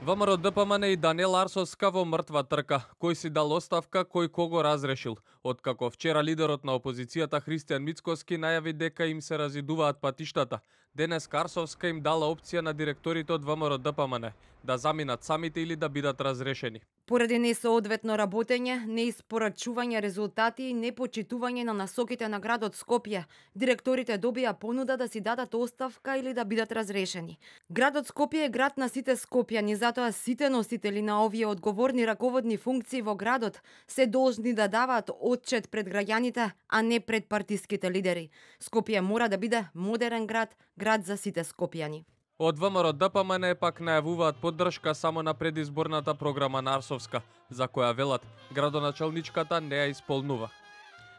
ВМРО ДПМН и Даниел Арсовска во мртва трка. Кој си дал оставка, кој кого разрешил. Откако вчера лидерот на опозицијата Христијан Мицкоски најави дека им се разидуваат патиштата, денес Арсовска им дала опција на директорите од ВМРО ДПМН да заминат самите или да бидат разрешени. Поради несоодветно работење, неиспорачување резултати и непочитување на насоките на градот Скопје, директорите добија понуда да си дадат оставка или да бидат разрешени. Градот Скопје е град на сите скопјани, затоа сите носители на овие одговорни раководни функции во градот се должни да даваат отчет пред граѓаните, а не пред партиските лидери. Скопје мора да биде модерен град, град за сите скопјани. Од ВМРО ДПМН пак најавуваат поддршка само на предизборната програма на Арсовска, за која велат градоначалничката не ја исполнува.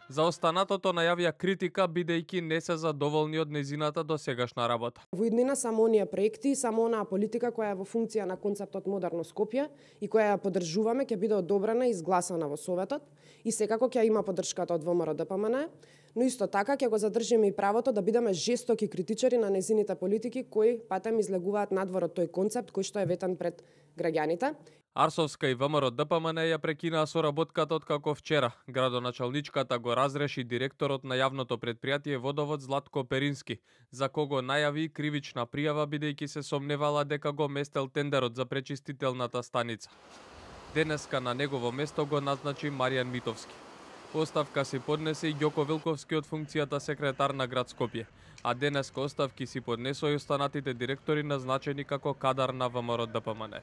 За останатото најавија критика бидејќи не се задоволни од незината досегашна работа. Во иднина само оние проекти, само онаа политика која е во функција на концептот Модерно Скопје и која ја поддржуваме ќе биде одобрена и изгласана во Советот и секако ќе има поддршката од ВМРО ДПМН, но исто така ќе го задржиме и правото да бидеме жестоки критичари на незините политики кои патем излегуваат надвор од тој концепт кој што е ветен пред граѓаните. Арсовска и ВМРО ДПМН ја прекинаа соработката откако вчера градоначалничката го разреши директорот на јавното претпријатие Водовод Златко Перински, за кого најави кривична пријава бидејќи се сомневала дека го местел тендерот за пречистителната станица. Денеска на негово место го назначи Маријан Митовски. Оставка си поднесе и Ѓоко Вилковски од функцијата секретар на град Скопје, а денеска оставки си поднесоа и останатите директори назначени како кадар на ВМРО ДПМН.